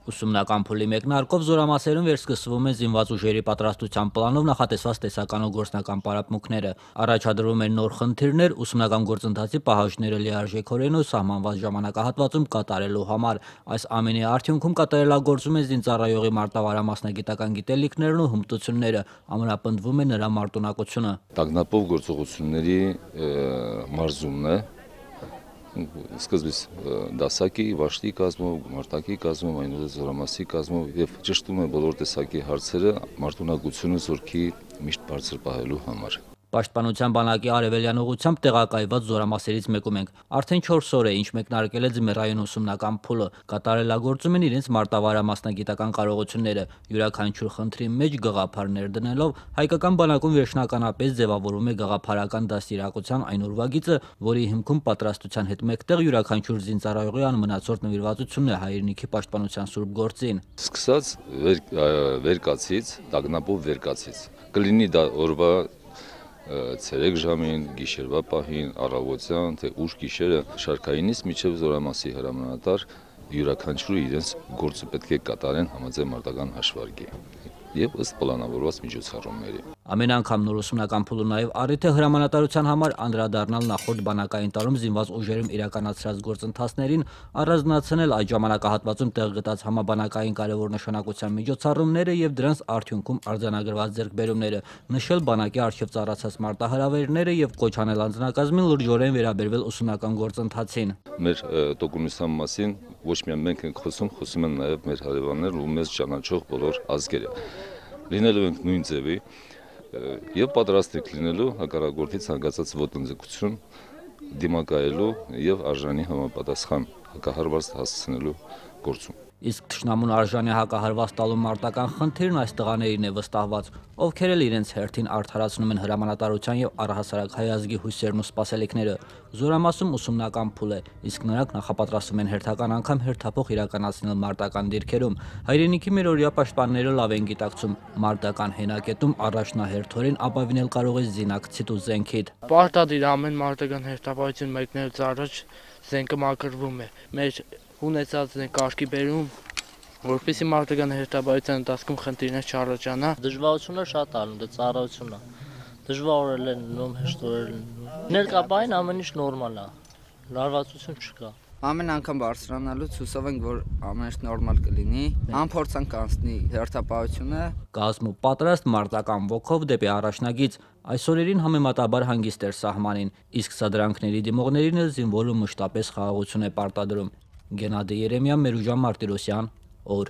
Ուսումնական փուլի մեկնարկով զորամասերում վերսկսվում են զինված ուժերի պատրաստության պլանով նախատեսված տեսական ու գործնական պարապմունքները։ Առաջադրվում են նոր խնդիրներ ուսումնական գործընթացի պահանջները լիարժեքորեն ու սահմանված ժամանակահատվածում կատարելու համար։ Այս ամենի արդյունքում կատարելագործում են զինծառայողի մարտավարամասնագիտական գիտելիքներն ու հմտությունները, ամրապնդվում է նրա մարտունակությունը։ Տագնապով գործողությունների մարզումն է։ Սկզբից դասակի, վաշտի կազմով, մարտակի կազմով, այնուհետև զորամասի կազմով եւ ճշտում է բոլոր տեսակի հարցերը մարտունակությունը զորքի միշտ բարձր պահելու համար։ Պաշտպանության բանակի արևելյան ուղությամբ տեղակայված զորամասերից մեկում ենք։ Արդեն 4 օր է, ինչ մեկնարկել է ձմեռային ուսումնական փուլը, կատարելագործում են իրենց մարտավարամասնագիտական կարողությունները, յուրաքանչյուր խնդրի մեջ գաղափարներ դնելով, հայկական բանակում վերջնականապես ձևավորում է գաղափարական դաստիարակության այն ուրվագիծը, որի հիմքում պատրաստության հետ մեկտեղ յուրաքանչյուր զինծառայողի անմնացորդ նվիրվածությունն է հայրենիքի պաշտպանության սուրբ գործին։ Սկսած վերկացից, տագնապով վերկացից, կլինի դա օրվա ցերեկ ժամին, գիշերվա պահին, առավոտյան, թե ուշ գիշերը, շարքայինից մինչև զորամասի հրամանատար յուրաքանչյուրը իրենց գործը պետք է կատարեն համաձայն մարտական հաշվարկի եւ ըստ պլանավորված միջոցառումների։ Ամեն անգամ նոր ուսումնական փուլը նաև առիթ է հրամանատարության համար անդրադառնալ նախորդ բանակային տարում զինված ուժերում իրականացրած գործընթացներին, առանձնացնել այդ ժամանակահատվածում տեղ գտած համաբանակային կարևոր նշանակության միջոցառումները եւ դրանց արդյունքում արձանագրված ձեռքբերումները, նշել բանակի արժեվ ծառացած մարտահրավերները եւ կոչ անել անձնակազմին լրջորեն վերաբերվել ուսումնական գործընթացին։ Մեր տոկունության մասին ոչ միայն մենք ենք խոսում են նաև մեր հարևաններն ու մեզ ճանաչող բոլոր ազգերը։ Լինելու ենք նույն ձևի եւ պատրաստ ենք լինելու հակառակորդի ցանկացած ոտնձգություն դիմակայելու եւ արժանի համապատասխան հակահարված հասցնելու գործում։ Իսկ թշնամուն արժանի հակահարված տալու մարտական խնդիրն այս տղաներին է վստահված, ովքեր էլ իրենց հերթին արդարացնում են հրամանատարության եւ առհասարակ հայ ազգի հույսերն ու սպասելիքները։ Զորամասում ուսումնական փուլ է, իսկ նրանք նախապատրաստվում են հերթական անգամ հերթափոխ իրականացնել մարտական դիրքերում։ Հայրենիքի մերօրյա պաշտպանները լավ են գիտակցում, մարտական հենակետում առաջնահերթորեն ապավինել կարող է զինակցիտ ու զենքիդ։ Պարտադիր ամեն մարտական հերթապահություն մեկնելուց առաջ զենքը մաքրվում է։ Մեր ունեցած կարգի բերում, որպեսզի մարտական հերթապահության ընթացքում խնդիրներ չառաջանա։ Դժվարությունը շատ ալնում, դա ծառայությունն է։ Դժվար է լինում, հեշտորեն լինում։ Ներկայապես ամեն ինչ նորմալ է։ Լարվածություն չկա։ Ամեն անգամ բարձրանալուց հուսով ենք, որ ամեն ինչ նորմալ կլինի, անփորձանք անցնի հերթապահությունը։ Կազմ ու պատրաստ մարտական ոգով դեպի առաջնագիծ, այս օրերին համեմատաբար հանգիստ էր սահմանին, իսկ սադրանքների դիմողներին զինվորը մշտապես խաղաղություն է պարտադրում։ Գենադի Երեմյան, Մերուժան Մարտիրոսյան, օր։